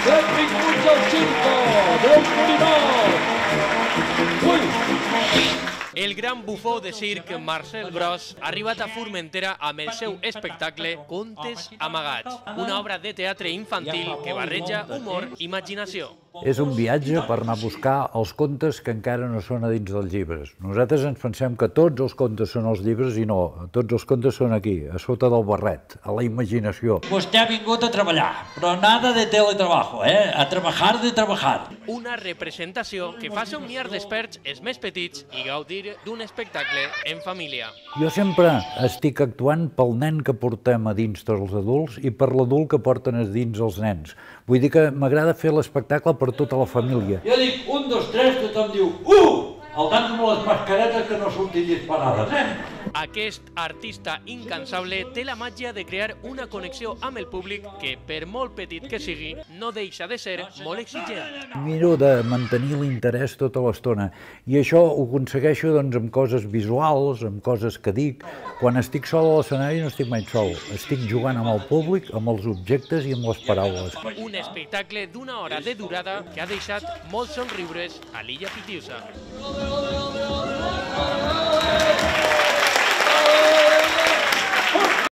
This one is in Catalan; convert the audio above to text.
Benvinguts al circo del Molinot! El gran bufó de circ Marcel Gros ha arribat a Formentera amb el seu espectacle Contes amagats, una obra de teatre infantil que barreja humor i imaginació. És un viatge per anar a buscar els contes que encara no són a dins dels llibres. Nosaltres ens pensem que tots els contes són als llibres i no, tots els contes són aquí, a sota del barret, a la imaginació. Vostè ha vingut a treballar, però nada de teletrabajo, a trabajar de trabajar. Una representació que fa somniar desperts els més petits i gaudir d'un espectacle en família. Jo sempre estic actuant pel nen que portem a dins tots els adults i per l'adult que porten a dins els nens. Vull dir que m'agrada fer l'espectacle per tota la família. Jo dic 1, 2, 3, tothom diu el tant amb les mascaretes que no surtin disparades, Aquest artista incansable té la màgia de crear una connexió amb el públic que, per molt petit que sigui, no deixa de ser molt exigent. Miro de mantenir l'interès tota l'estona i això ho aconsegueixo amb coses visuals, amb coses que dic. Quan estic sol a l'escenari no estic mai sol, estic jugant amb el públic, amb els objectes i amb les paraules. Un espectacle d'una hora de durada que ha deixat molts somriures a l'Illa Pitiusa.